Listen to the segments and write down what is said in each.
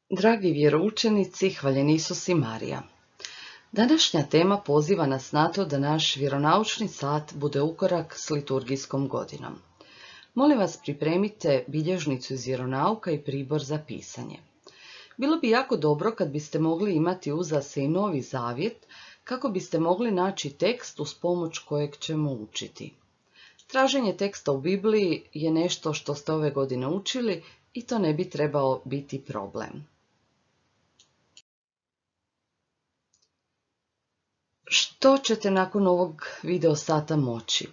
Dragi vjeroučenici, hvaljen Isus i Marija. Današnja tema poziva nas na to da naš vjeronaučni sat bude ukorak s liturgijskom godinom. Molim vas, pripremite bilježnicu iz vjeronauka i pribor za pisanje. Bilo bi jako dobro kad biste mogli imati uza se i Novi Zavjet, kako biste mogli naći tekst uz pomoć kojeg ćemo učiti. Traženje teksta u Bibliji je nešto što ste ove godine učili i to ne bi trebao biti problem. Što ćete nakon ovog video sata moći?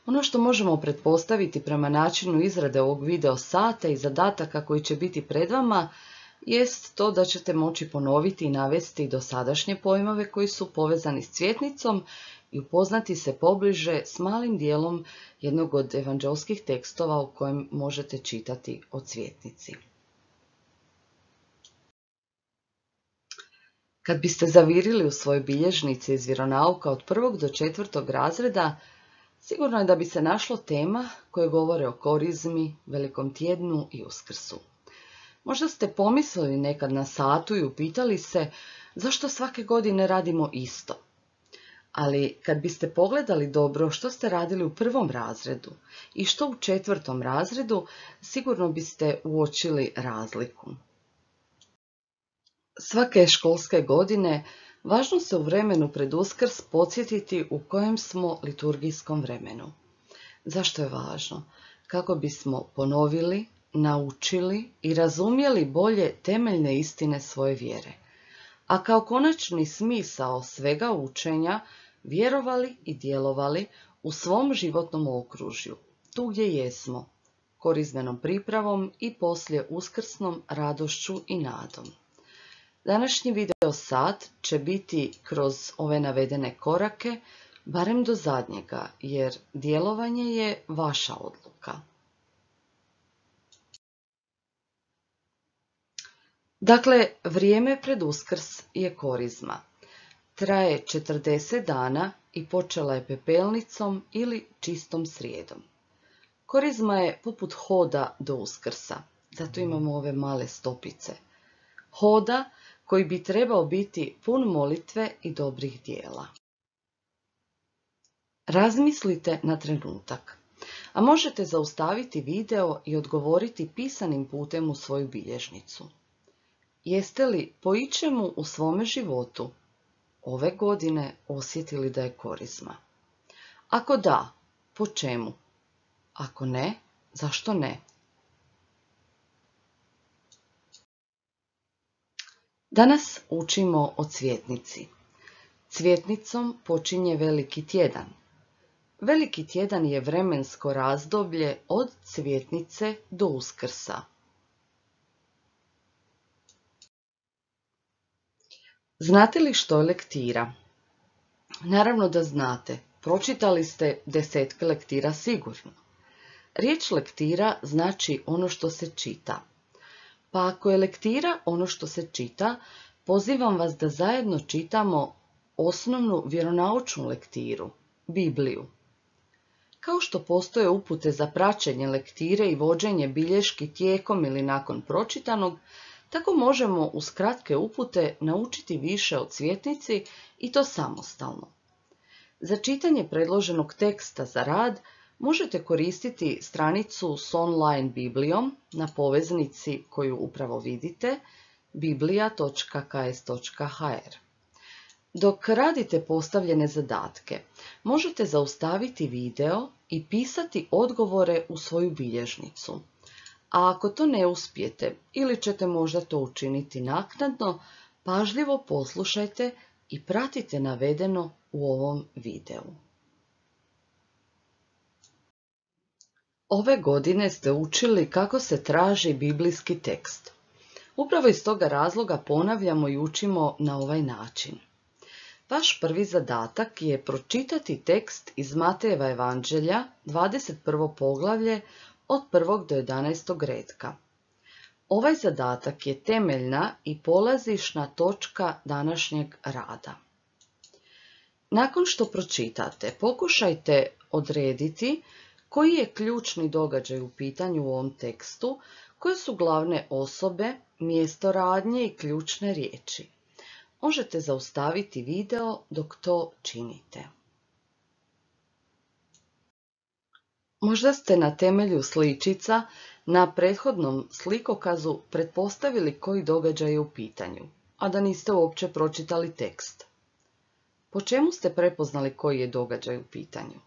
Ono što možemo pretpostaviti prema načinu izrade ovog video sata i zadataka koji će biti pred vama jest to da ćete moći ponoviti i navesti dosadašnje pojmove koji su povezani s cvjetnicom i upoznati se pobliže s malim dijelom jednog od evanđelskih tekstova u kojem možete čitati o cvjetnici. Kad biste zavirili u svoje bilježnice iz vjeronauka od 1. do 4. razreda, sigurno je da bi se našlo tema koje govore o korizmi, Velikom tjednu i Uskrsu. Možda ste pomislili nekad na satu i upitali se zašto svake godine radimo isto. Ali kad biste pogledali dobro što ste radili u 1. razredu i što u 4. razredu, sigurno biste uočili razliku. Svake školske godine važno se u vremenu pred Uskrs podsjetiti u kojem smo liturgijskom vremenu. Zašto je važno? Kako bismo ponovili, naučili i razumjeli bolje temeljne istine svoje vjere. A kao konačni smisao svega učenja vjerovali i djelovali u svom životnom okružju, tu gdje jesmo, korizmenom pripravom i poslije uskrsnom radošću i nadom. Današnji video sat će biti kroz ove navedene korake, barem do zadnjega, jer djelovanje je vaša odluka. Dakle, vrijeme pred Uskrs je korizma. Traje 40 dana i počela je pepelnicom ili čistom srijedom. Korizma je poput hoda do Uskrsa, zato imamo ove male stopice. Hoda koji bi trebao biti pun molitve i dobrih dijela. Razmislite na trenutak, a možete zaustaviti video i odgovoriti pisanim putem u svoju bilježnicu. Jeste li po ičemu u svome životu ove godine osjetili da je korizma? Ako da, po čemu? Ako ne, zašto ne? Danas učimo o cvjetnici. Cvjetnicom počinje Veliki tjedan. Veliki tjedan je vremensko razdoblje od cvjetnice do Uskrsa. Znate li što je lektira? Naravno da znate, pročitali ste desetke lektira sigurno. Riječ lektira znači ono što se čita. Pa ako je lektira ono što se čita, pozivam vas da zajedno čitamo osnovnu vjeronaučnu lektiru, Bibliju. Kao što postoje upute za praćenje lektire i vođenje bilješki tijekom ili nakon pročitanog, tako možemo uz kratke upute naučiti više o cvjetnici i to samostalno. Za čitanje predloženog teksta za rad možete koristiti stranicu s online Biblijom na poveznici koju upravo vidite, biblija.ks.hr. Dok radite postavljene zadatke, možete zaustaviti video i pisati odgovore u svoju bilježnicu. A ako to ne uspijete ili ćete možda to učiniti naknadno, pažljivo poslušajte i pratite navedeno u ovom videu. Ove godine ste učili kako se traži biblijski tekst. Upravo iz toga razloga ponavljamo i učimo na ovaj način. Vaš prvi zadatak je pročitati tekst iz Matejeva evanđelja, 21. poglavlje, od 1. do 11. retka. Ovaj zadatak je temeljna i polazišna točka današnjeg rada. Nakon što pročitate, pokušajte odrediti Koji je ključni događaj u pitanju u ovom tekstu? Koje su glavne osobe, mjesto radnje i ključne riječi? Možete zaustaviti video dok to činite. Možda ste na temelju sličica na prethodnom slikokazu pretpostavili koji događaj je u pitanju, a da niste uopće pročitali tekst. Po čemu ste prepoznali koji je događaj u pitanju?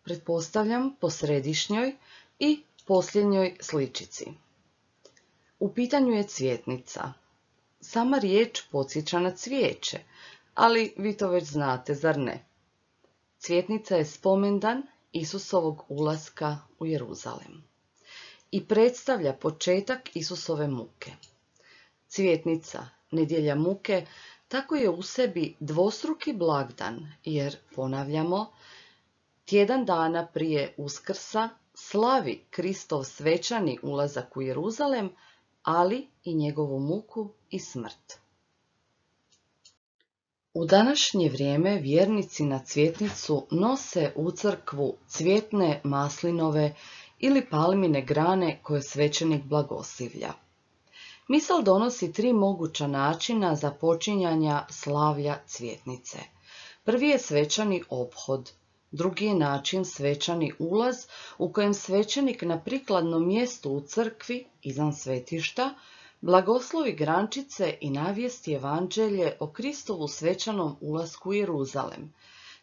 Pretpostavljam po središnjoj i posljednjoj sličici. U pitanju je cvjetnica. Sama riječ podsjeća na cvijeće, ali vi to već znate, zar ne? Cvjetnica je spomendan Isusovog ulaska u Jeruzalem i predstavlja početak Isusove muke. Cvjetnica, nedjelja muke, tako je u sebi dvostruki blagdan, jer, ponavljamo, tjedan dana prije Uskrsa slavi Kristov svečani ulazak u Jeruzalem, ali i njegovu muku i smrt. U današnje vrijeme vjernici na cvjetnicu nose u crkvu cvjetne maslinove ili palmine grane koje svećenik blagoslivlja. Misal donosi 3 moguća načina započinjanja slavlja cvjetnice. Prvi je svečani ophod, drugi je način svečani ulaz u kojem svećenik na prikladnom mjestu u crkvi, izvan svetišta, blagoslovi grančice i navijesti evanđelje o Kristovu svečanom ulasku u Jeruzalem,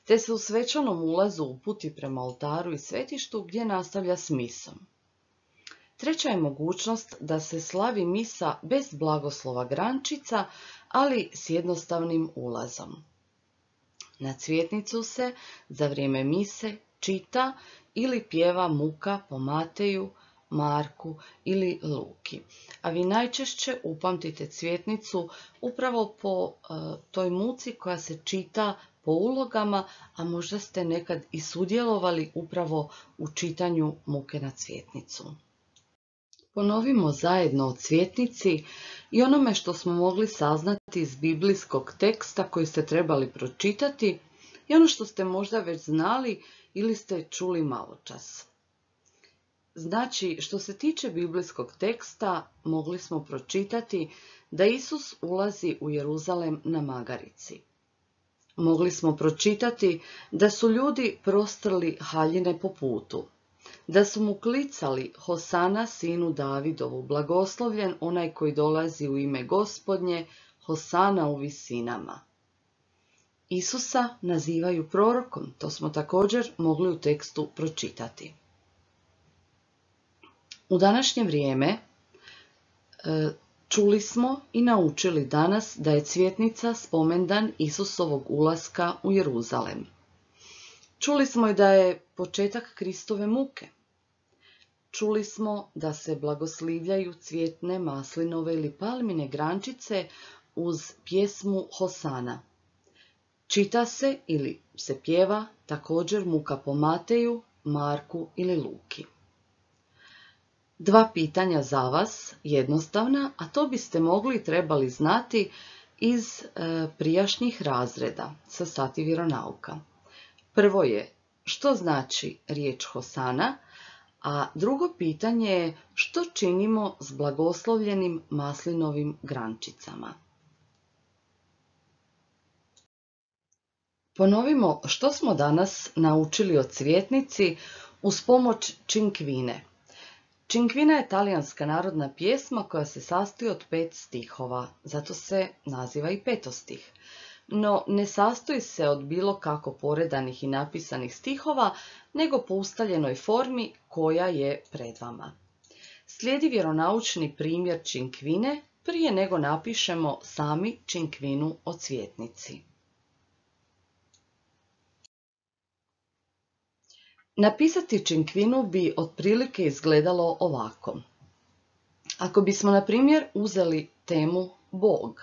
te se u svečanom ulazu uputi prema oltaru i svetištu gdje nastavlja s misom. Treća je mogućnost da se slavi misa bez blagoslova grančica, ali s jednostavnim ulazom. Na cvjetnicu se za vrijeme mise čita ili pjeva muka po Mateju, Marku ili Luki. A vi najčešće upamtite cvjetnicu upravo po toj muci koja se čita po ulogama, a možda ste nekad i sudjelovali upravo u čitanju muke na cvjetnicu. Ponovimo zajedno o cvjetnici i onome što smo mogli saznati iz biblijskog teksta koji ste trebali pročitati i ono što ste možda već znali ili ste čuli maločas. Znači, što se tiče biblijskog teksta, mogli smo pročitati da Isus ulazi u Jeruzalem na magarici. Mogli smo pročitati da su ljudi prostrli haljine po putu, da su mu klicali Hosana sinu Davidovu, blagoslovljen onaj koji dolazi u ime Gospodnje, Hosana u visinama. Isusa nazivaju prorokom, to smo također mogli u tekstu pročitati. U današnje vrijeme čuli smo i naučili danas da je cvjetnica spomendan Isusovog ulaska u Jeruzalem. Čuli smo i da je početak Kristove muke. Čuli smo da se blagoslivljaju cvjetne maslinove ili palmine grančice uz pjesmu Hosana. Čita se ili se pjeva također muka po Mateju, Marku ili Luki. 2 pitanja za vas, jednostavna, a to biste mogli i trebali znati iz prijašnjih razreda sa sati vjeronauka. Prvo je, što znači riječ Hosana, a drugo pitanje je, što činimo s blagoslovljenim maslinovim grančicama. Ponovimo što smo danas naučili o cvjetnici uz pomoć Činkvine. Činkvina je talijanska narodna pjesma koja se sastoji od 5 stihova, zato se naziva i petostih. No, ne sastoji se od bilo kako poredanih i napisanih stihova, nego po ustaljenoj formi koja je pred vama. Slijedi vjeronaučni primjer Činkvine prije nego napišemo sami Činkvinu o cvjetnici. Napisati Činkvinu bi otprilike izgledalo ovako. Ako bismo, na primjer, uzeli temu Bog,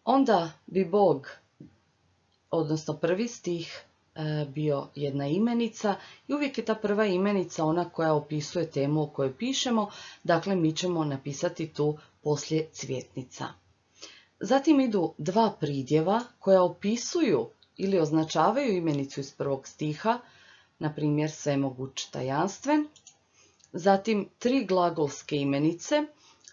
onda bi Bog, odnosno prvi stih, bio jedna imenica i uvijek je ta prva imenica ona koja opisuje temu o kojoj pišemo, dakle mi ćemo napisati tu poslije cvjetnica. Zatim idu 2 pridjeva koja opisuju ili označavaju imenicu iz prvog stiha, na primjer svemoguć, tajanstven. Zatim 3 glagolske imenice.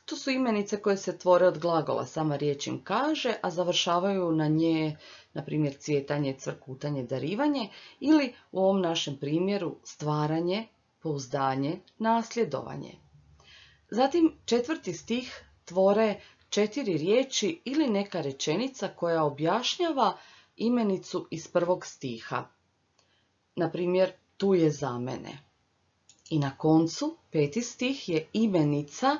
To su imenice koje se tvore od glagola, sama riječ im kaže, a završavaju na nje, na primjer, cvjetanje, cvrkutanje, darivanje ili u ovom našem primjeru stvaranje, pouzdanje, nasljedovanje. Zatim 4. stih tvore 4 riječi ili neka rečenica koja objašnjava imenicu iz 1. stiha. Na primjer, tu je za mene. I na koncu 5. stih je imenica,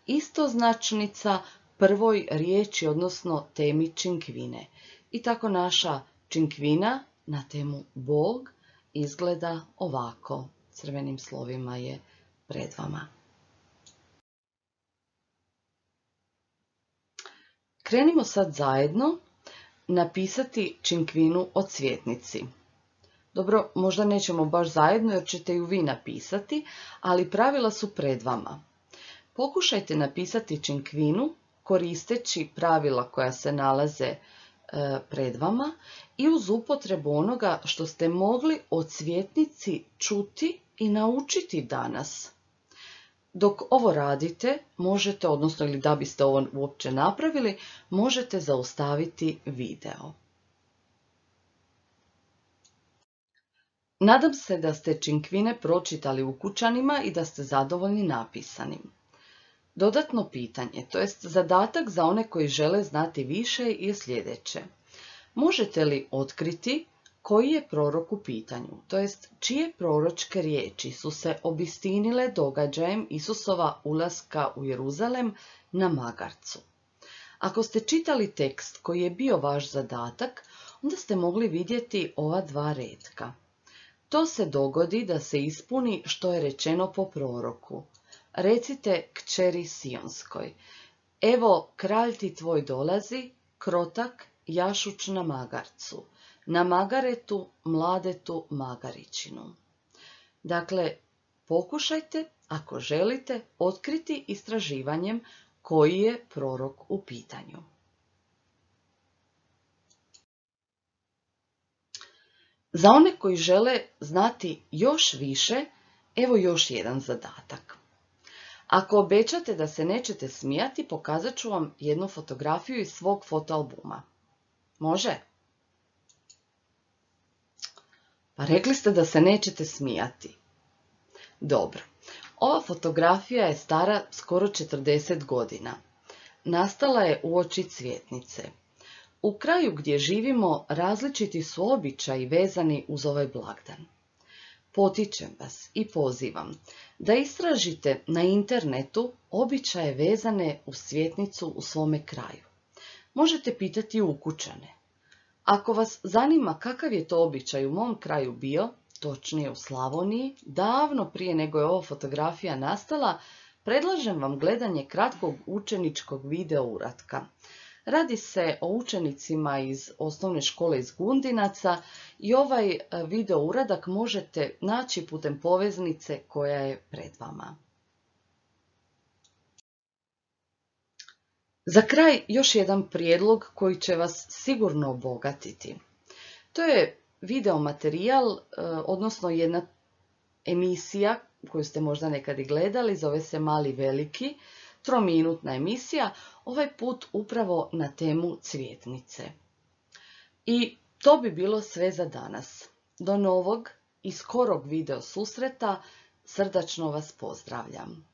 istoznačnica prvoj riječi, odnosno temi činkvine. I tako naša činkvina na temu Bog izgleda ovako. Crvenim slovima je pred vama. Krenimo sad zajedno napisati činkvinu o cvjetnici. Dobro, možda nećemo baš zajedno jer ćete ju vi napisati, ali pravila su pred vama. Pokušajte napisati činkvinu koristeći pravila koja se nalaze pred vama i uz upotrebu onoga što ste mogli o cvjetnici čuti i naučiti danas. Dok ovo radite, možete, odnosno ili da biste ovo uopće napravili, možete zaustaviti video. Nadam se da ste činkvine pročitali ukućanima i da ste zadovoljni napisanim. Dodatno pitanje, to jest zadatak za one koji žele znati više, je sljedeće. Možete li otkriti koji je prorok u pitanju, to jest čije proročke riječi su se obistinile događajem Isusova ulaska u Jeruzalem na magarcu? Ako ste čitali tekst koji je bio vaš zadatak, onda ste mogli vidjeti ova 2 retka. To se dogodi da se ispuni što je rečeno po proroku. Recite kćeri Sionskoj, evo kralj ti tvoj dolazi, krotak, jašuć na magarcu, na magaretu, mladetu magaričinu. Dakle, pokušajte, ako želite, otkriti istraživanjem koji je prorok u pitanju. Za one koji žele znati još više, evo još jedan zadatak. Ako obećate da se nećete smijati, pokazat ću vam jednu fotografiju iz svog fotoalbuma. Može? Pa rekli ste da se nećete smijati. Dobro. Ova fotografija je stara skoro 40 godina. Nastala je uoči cvjetnice. U kraju gdje živimo različiti su običaji vezani uz ovaj blagdan. Potičem vas i pozivam da istražite na internetu običaje vezane uz cvjetnicu u svome kraju. Možete pitati ukućane. Ako vas zanima kakav je to običaj u mom kraju bio, točnije u Slavoniji, davno prije nego je ova fotografija nastala, predlažem vam gledanje kratkog učeničkog video uratka. Radi se o učenicima iz osnovne škole iz Gundinaca i ovaj video uradak možete naći putem poveznice koja je pred vama. Za kraj još jedan prijedlog koji će vas sigurno obogatiti. To je video materijal, odnosno jedna emisija koju ste možda nekad i gledali, zove se Mali veliki, 3-minutna emisija, ovaj put upravo na temu cvjetnice. I to bi bilo sve za danas. Do novog i skorog video susreta, srdačno vas pozdravljam.